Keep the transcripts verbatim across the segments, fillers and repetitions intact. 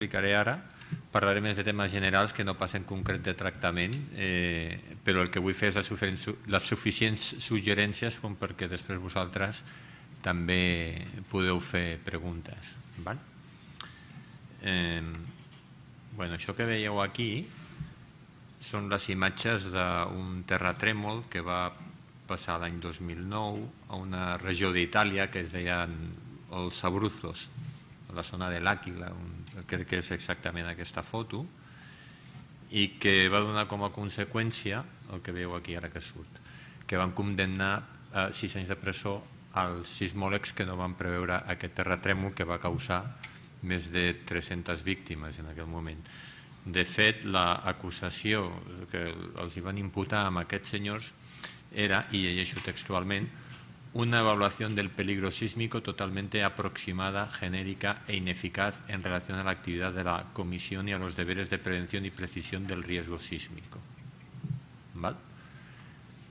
explicaré ara. Parlaré més de temes generals que no passen concret de tractament, però el que vull fer és les suficients suggerències com perquè després vosaltres també podeu fer preguntes. Això que veieu aquí són les imatges d'un terratrèmol que va passar l'any dos mil nou a una regió d'Itàlia que es deien els Abruzos, a la zona de l'Àquila, crec que és exactament aquesta foto, i que va donar com a conseqüència el que veieu aquí ara que surt, que van condemnar a sis anys de presó als sismòlegs que no van preveure aquest terratrèmol que va causar més de tres-centes víctimes en aquell moment. De fet, l'acusació que els van imputar amb aquests senyors era, y llegeixo textualment, una evaluación del peligro sísmico totalmente aproximada, genérica e ineficaz en relación a la actividad de la comisión y a los deberes de prevención y precisión del riesgo sísmico.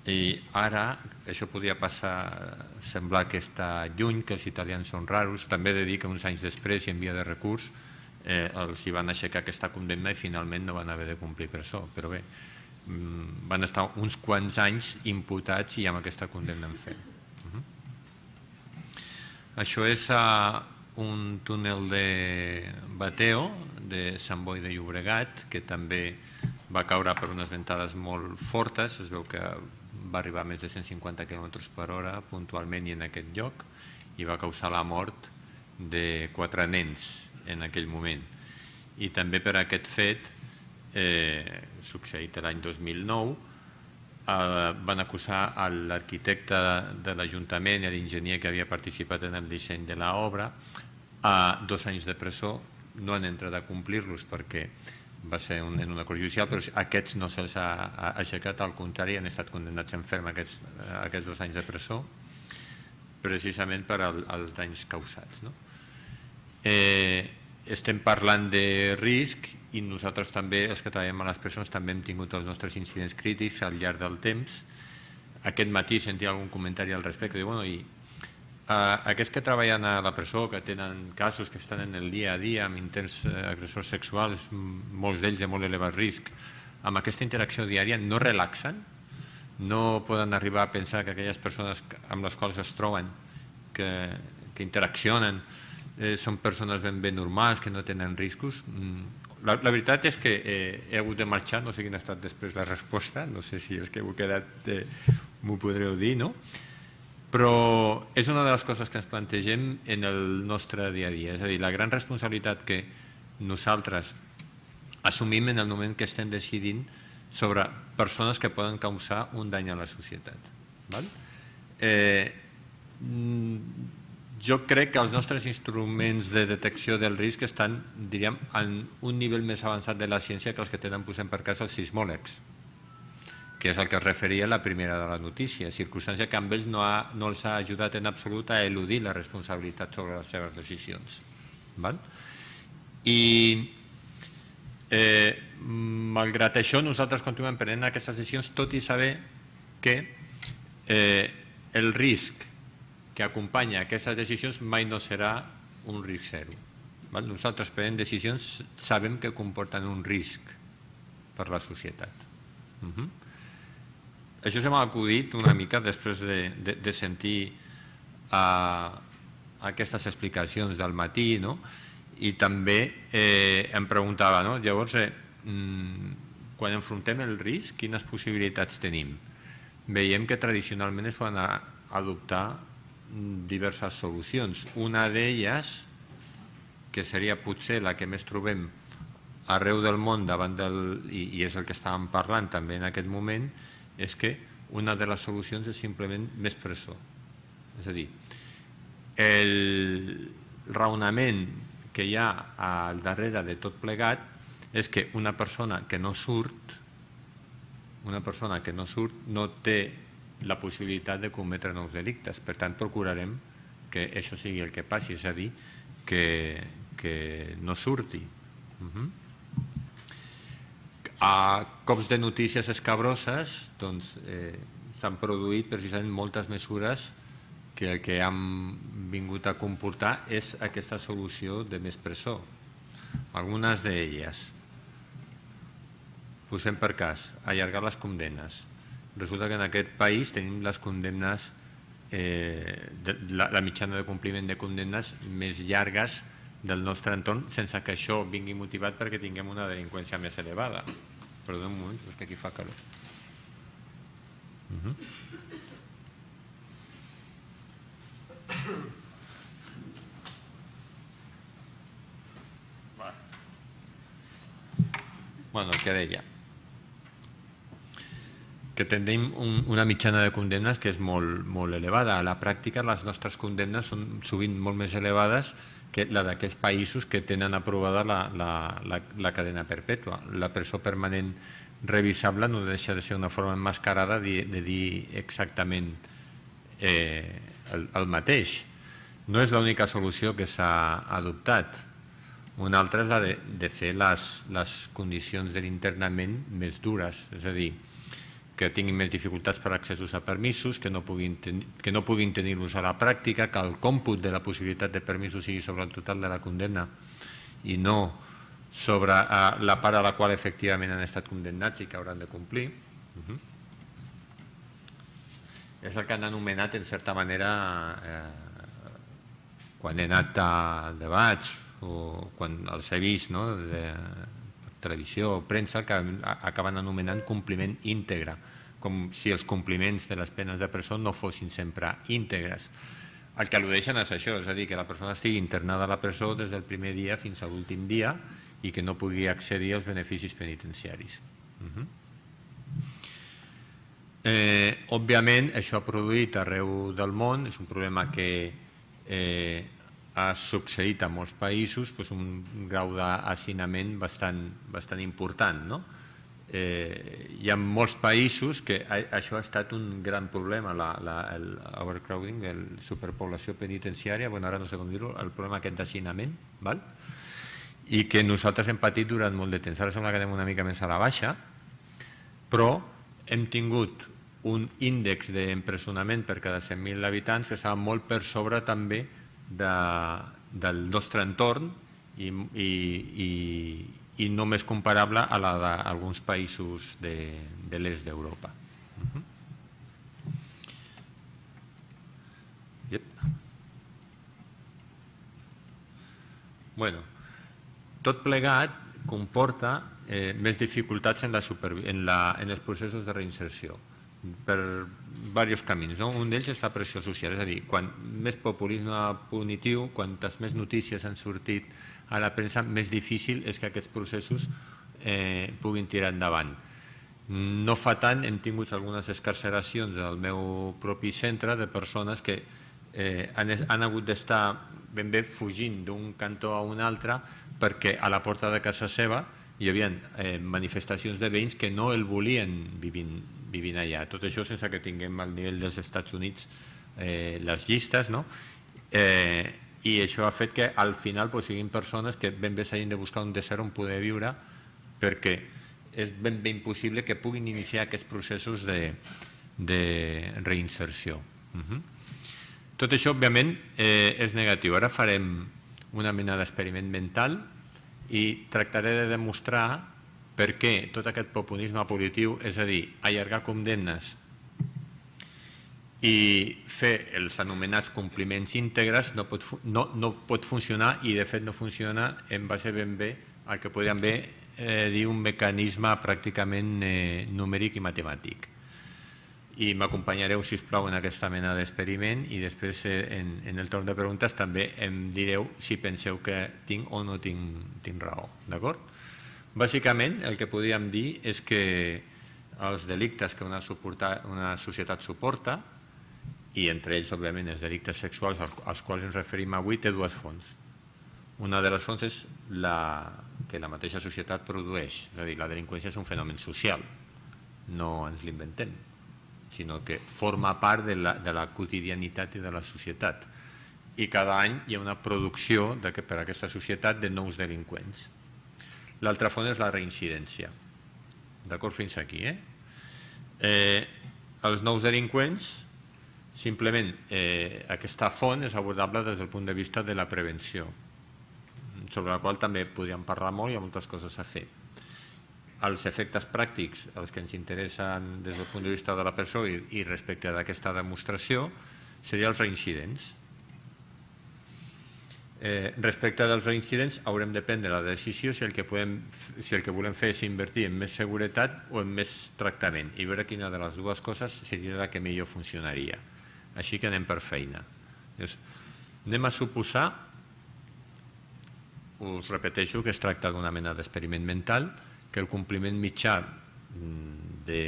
I ara, això podria passar, semblar que està lluny, que els italians són raros, també he de dir que uns anys després i en via de recurs els hi van aixecar aquesta condemna i finalment no van haver de complir presó, però bé, van estar uns quants anys imputats i amb aquesta condemna en fe. Això és un túnel de bateo de Sant Boi de Llobregat que també va caure per unes ventades molt fortes, es veu que va arribar a més de cent cinquanta quilòmetres per hora puntualment i en aquest lloc i va causar la mort de quatre nens en aquell moment. I també per aquest fet, succeït l'any dos mil nou, van acusar l'arquitecte de l'Ajuntament i l'enginyer que havia participat en el disseny de l'obra a dos anys de presó. No han entrat a complir-los perquè va ser en una cosa judicial, però aquests no se'ls ha aixecat, al contrari, han estat condemnats en ferm aquests dos anys de presó precisament per als danys causats. Estem parlant de risc i nosaltres també, els que treballem a les presons, també hem tingut els nostres incidents crítics al llarg del temps. Aquest matí sentia algun comentari al respecte. Aquests que treballen a la presó, que tenen casos que estan en el dia a dia amb intents agressors sexuals, molts d'ells de molt elevat risc, amb aquesta interacció diària no relaxen, no poden arribar a pensar que aquelles persones amb les quals es troben, que interaccionen, són persones ben bé normals, que no tenen riscos. La veritat és que he hagut de marxar, no sé quina ha estat després la resposta, no sé si els que heu quedat m'ho podreu dir, no? Però és una de les coses que ens plantegem en el nostre dia a dia, és a dir, la gran responsabilitat que nosaltres assumim en el moment que estem decidint sobre persones que poden causar un dany a la societat. Jo crec que els nostres instruments de detecció del risc estan, diríem, en un nivell més avançat de la ciència que els que tenen, posem per cas, els sismòlegs, que és el que es referia a la primera de la notícia, circumstància que amb ells no els ha ajudat en absolut a eludir la responsabilitat sobre les seves decisions. I malgrat això nosaltres continuem prenent aquestes decisions, tot i saber que el risc que acompanya aquestes decisions mai no serà un risc zero. Nosaltres prenem decisions, sabem que comporten un risc per la societat. Això se m'ha acudit una mica després de sentir aquestes explicacions del matí i també em preguntava, llavors, quan enfrontem el risc, quines possibilitats tenim? Veiem que tradicionalment es poden adoptar diverses solucions. Una d'elles, que seria potser la que més trobem arreu del món davant del, i és el que estàvem parlant també en aquest moment, és que una de les solucions és simplement més presó. És a dir, el raonament que hi ha al darrere de tot plegat és que una persona que no surt, una persona que no surt no té la possibilitat de cometre nous delictes. Per tant, procurarem que això sigui el que passi, és a dir, que no surti. A cops de notícies escabroses s'han produït precisament moltes mesures que el que han vingut a comportar és aquesta solució de més presó. algunes d'elles. Posem per cas, allargar les condemnes. Resulta que en aquest país tenim les condemnes, la mitjana de compliment de condemnes més llargues del nostre entorn, sense que això vingui motivat perquè tinguem una delinqüència més elevada. Perdó un moment, és que aquí fa calor. Bueno, el que deia, que tenim una mitjana de condemnes que és molt elevada. A la pràctica, les nostres condemnes són sovint molt més elevades que la d'aquells països que tenen aprovada la cadena perpètua. La presó permanent revisable no deixa de ser una forma emmascarada de dir exactament el mateix. No és l'única solució que s'ha adoptat. Una altra és la de fer les condicions de l'internament més dures, és a dir, que tinguin més dificultats per accessos a permisos, que no puguin tenir-los a la pràctica, que el còmput de la possibilitat de permisos sigui sobre el total de la condemna i no sobre la part a la qual efectivament han estat condemnats i que hauran de complir. És el que han anomenat, en certa manera, quan he anat a debats o quan els he vist de televisió o premsa, que acaben anomenant compliment íntegre, com si els compliments de les penes de presó no fossin sempre íntegres. El que al·ludeixen és això, és a dir, que la persona estigui internada a la presó des del primer dia fins a l'últim dia i que no pugui accedir als beneficis penitenciaris. Òbviament, això ha produït arreu del món, és un problema que ha succeït a molts països, un grau d'hacinament bastant important. Hi ha molts països que això ha estat un gran problema, l'overcrowding, la superpoblació penitenciària, ara no sé com dir-ho, el problema aquest d'hacinament, i que nosaltres hem patit durant molt de temps. Ara sembla que anem una mica més a la baixa, però hem tingut un índex d'empresonament per cada cent mil habitants que estava molt per sobre també del nostre entorn i només comparable a la d'alguns països de l'est d'Europa. Tot plegat comporta més dificultats en els processos de reinserció per diversos camins. Un d'ells és la pressió social, és a dir, quan més populisme punitiu, quantes més notícies han sortit a la premsa, més difícil és que aquests processos puguin tirar endavant. No fa tant hem tingut algunes excarceracions al meu propi centre de persones que han hagut d'estar ben bé fugint d'un cantó a un altre perquè a la porta de casa seva hi havia manifestacions de veïns que no el volien vivint allà. Tot això sense que tinguem al nivell dels Estats Units les llistes, i això ha fet que al final siguin persones que ben bé s'hagin de buscar un desert on poder viure perquè és ben bé impossible que puguin iniciar aquests processos de reinserció. Tot això, òbviament, és negatiu. Ara farem una mena d'experiment mental i tractaré de demostrar per què tot aquest populisme punitiu, és a dir, allargar condemnes i fer els anomenats compliments íntegres no pot funcionar i de fet no funciona en base ben bé al que podríem bé dir un mecanisme pràcticament numèric i matemàtic. I m'acompanyareu, sisplau, en aquesta mena d'experiment i després en el torn de preguntes també em direu si penseu que tinc o no tinc raó. D'acord? Bàsicament, el que podríem dir és que els delictes que una societat suporta, i entre ells, òbviament, els delictes sexuals als quals ens referim avui, té dues fonts. Una de les fonts és que la mateixa societat produeix, és a dir, la delinqüència és un fenomen social, no ens l'inventem, sinó que forma part de la quotidianitat i de la societat. I cada any hi ha una producció per a aquesta societat de nous delinqüents. L'altra font és la reincidència. D'acord fins aquí, eh? Els nous delinqüents, simplement aquesta font és abordable des del punt de vista de la prevenció. sobre la qual també podríem parlar molt, hi ha moltes coses a fer. Els efectes pràctics, els que ens interessen des del punt de vista de la persona i, i respecte d'aquesta demostració, serien els reincidents. Eh, respecte dels reincidents, haurem de prendre la decisió si el, que podem, si el que volem fer és invertir en més seguretat o en més tractament i veure quina de les dues coses seria la que millor funcionaria. Així que anem per feina. Llavors, anem a suposar, us repeteixo que es tracta d'una mena d'experiment mental, que el compliment mitjà de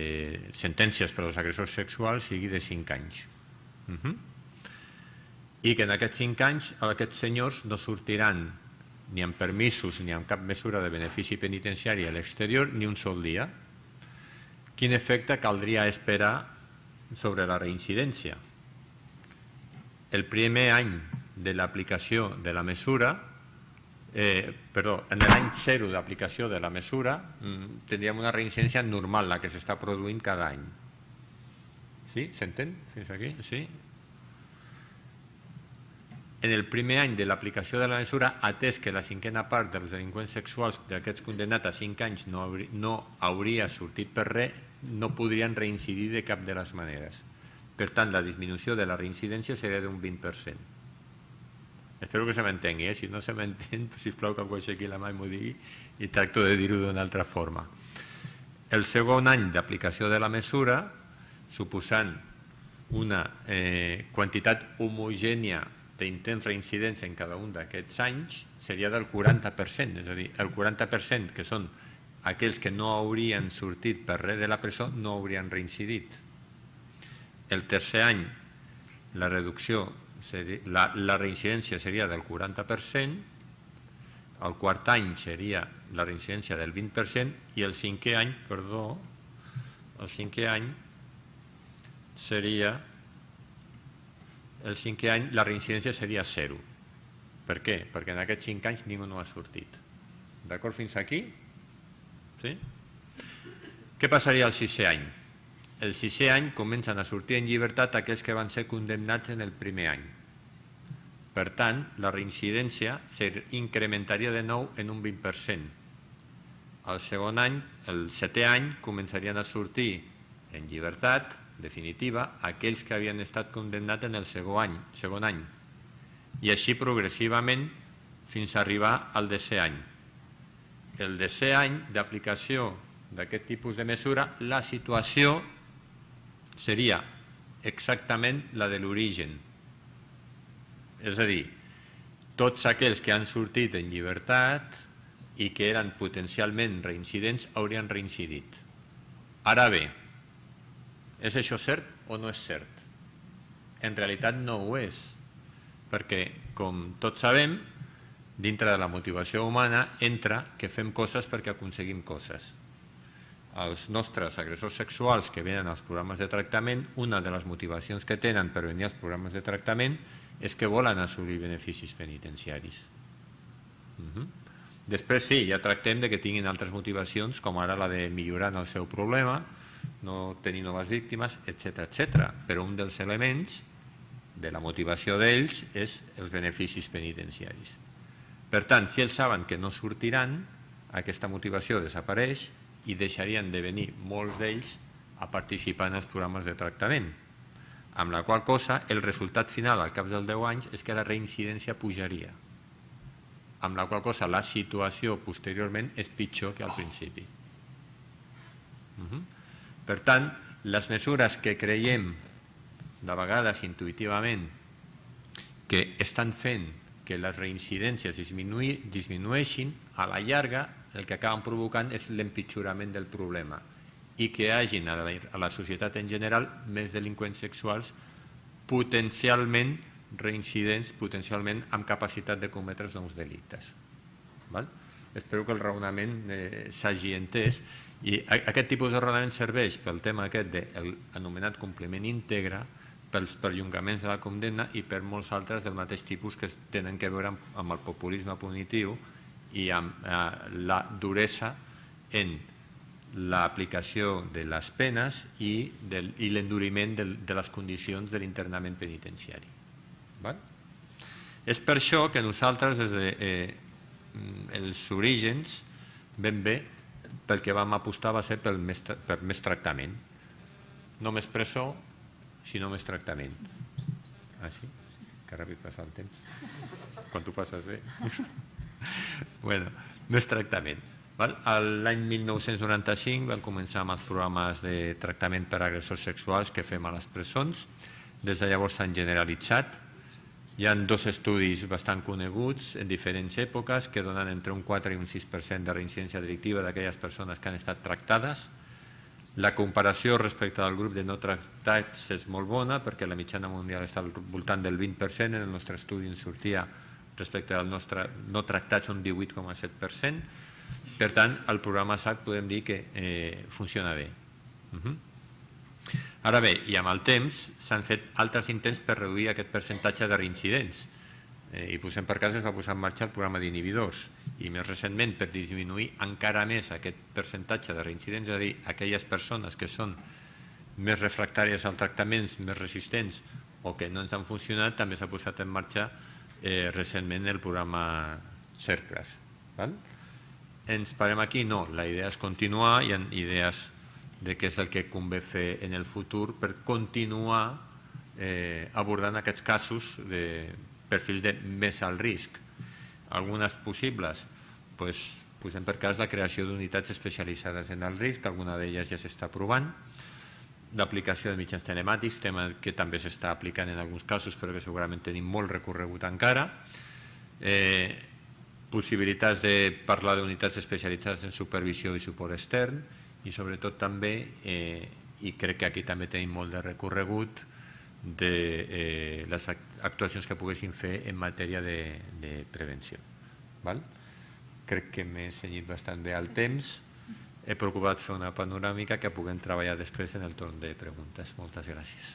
sentències per als agressors sexuals sigui de cinc anys. Uh-huh. I que en aquests cinc anys aquests senyors no sortiran ni amb permisos ni amb cap mesura de benefici penitenciari a l'exterior ni un sol dia. Quin efecte caldria esperar sobre la reincidència? El primer any de l'aplicació de la mesura, eh, perdó, en l'any zero d'aplicació de la mesura, tindríem una reincidència normal, la que s'està produint cada any. Sí? S'entén? Fins aquí? Sí? En el primer any de l'aplicació de la mesura, atès que la cinquena part dels delinqüents sexuals d'aquests condemnats a cinc anys no, hauria, no hauria sortit per res, no podrien reincidir de cap de les maneres. Per tant, la disminució de la reincidència seria d'un vint per cent. Espero que se m'entengui, eh? Si no se m'entén, sisplau que algú aixequi la mà i m'ho digui i tracto de dir-ho d'una altra forma. El segon any d'aplicació de la mesura, suposant una eh, quantitat homogènia d'intents reincidents en cada un d'aquests anys, seria del quaranta per cent, és a dir, el quaranta per cent que són aquells que no haurien sortit per res de la presó no haurien reincidit. El tercer any, la reducció, seria, la, la reincidència seria del quaranta per cent, el quart any seria la reincidència del vint per cent i el cinquè any, perdó, el cinquè any seria... El cinquè any la reincidència seria zero. Per què? Perquè en aquests cinc anys ningú no ha sortit. D'acord fins aquí? Sí? Què passaria el sisè any? El sisè any comencen a sortir en llibertat aquells que van ser condemnats en el primer any. Per tant, la reincidència s'incrementaria de nou en un vint per cent. El segon any, el setè any, començarien a sortir en llibertat definitiva aquells que havien estat condemnats en el segon any, segon any i així progressivament fins a arribar al desè any. El desè any d'aplicació d'aquest tipus de mesura, la situació seria exactament la de l'origen. És a dir, tots aquells que han sortit en llibertat i que eren potencialment reincidents haurien reincidit. Ara bé, és això cert o no és cert? En realitat no ho és, perquè, com tots sabem, dintre de la motivació humana entra que fem coses perquè aconseguim coses. Els nostres agressors sexuals que venen als programes de tractament, una de les motivacions que tenen per venir als programes de tractament és que volen assolir beneficis penitenciaris. Uh-huh. Després sí, ja tractem de que tinguin altres motivacions, com ara la de millorar el seu problema, no tenir noves víctimes, etcètera, etcètera. Però un dels elements de la motivació d'ells és els beneficis penitenciaris. Per tant, si ells saben que no sortiran, aquesta motivació desapareix i deixarien de venir molts d'ells a participar en els programes de tractament. Amb la qual cosa, el resultat final al cap dels deu anys és que la reincidència pujaria. Amb la qual cosa, la situació posteriorment és pitjor que al principi. Uh-huh. Per tant, les mesures que creiem, de vegades intuïtivament, que estan fent que les reincidències disminueixin, a la llarga el que acaben provocant és l'empitjorament del problema i que hi hagi a la societat en general més delinqüents sexuals potencialment reincidents, potencialment amb capacitat de cometre nous delictes. Val? Espero que el raonament eh, s'hagi entès i aquest tipus de raonament serveix pel tema aquest de l'anomenat compliment íntegre, pels perllongaments de la condemna i per molts altres del mateix tipus que tenen a veure amb el populisme punitiu i amb eh, la duresa en l'aplicació de les penes i, del, i l'enduriment de, de les condicions de l'internament penitenciari. Val? És per això que nosaltres des de eh, els orígens, ben bé, pel que vam apostar va ser per més tractament. No més presó, sinó més tractament. Ah, sí? Que ràpid passa el temps. Quan tu passes bé. Bueno, més tractament. L'any mil nou-cents noranta-cinc vam començar amb els programes de tractament per agressors sexuals que fem a les presons. Des de llavors s'han generalitzat. Hi ha dos estudis bastant coneguts en diferents èpoques que donen entre un quatre i un sis per cent de reincidència delictiva d'aquelles persones que han estat tractades. La comparació respecte al grup de no tractats és molt bona perquè la mitjana mundial està al voltant del vint per cent. En el nostre estudi en sortia respecte al nostre no tractats un divuit coma set per cent. Per tant, el programa S A C podem dir que funciona bé. Ara bé, i amb el temps s'han fet altres intents per reduir aquest percentatge de reincidents. I posem per cas es va posar en marxa el programa d'inhibidors i més recentment per disminuir encara més aquest percentatge de reincidents, és a dir, aquelles persones que són més refractàries als tractaments, més resistents o que no ens han funcionat, també s'ha posat en marxa recentment el programa CERCLAS. Ens parem aquí? No, la idea és continuar, hi ha idees de què és el que convé fer en el futur per continuar abordant aquests casos de perfils de més alt risc. Algunes possibles, posem per cas la creació d'unitats especialitzades en alt risc, alguna d'elles ja s'està provant, l'aplicació de mitjans telemàtics, tema que també s'està aplicant en alguns casos però que segurament tenim molt recorregut encara, possibilitats de parlar d'unitats especialitzades en supervisió i suport extern i sobretot també, i crec que aquí també tenim molt de recorregut, de les actuacions que poguessin fer en matèria de prevenció. Crec que m'he cenyit bastant bé al temps. He procurat fer una panoràmica que puguem treballar després en el torn de preguntes. Moltes gràcies.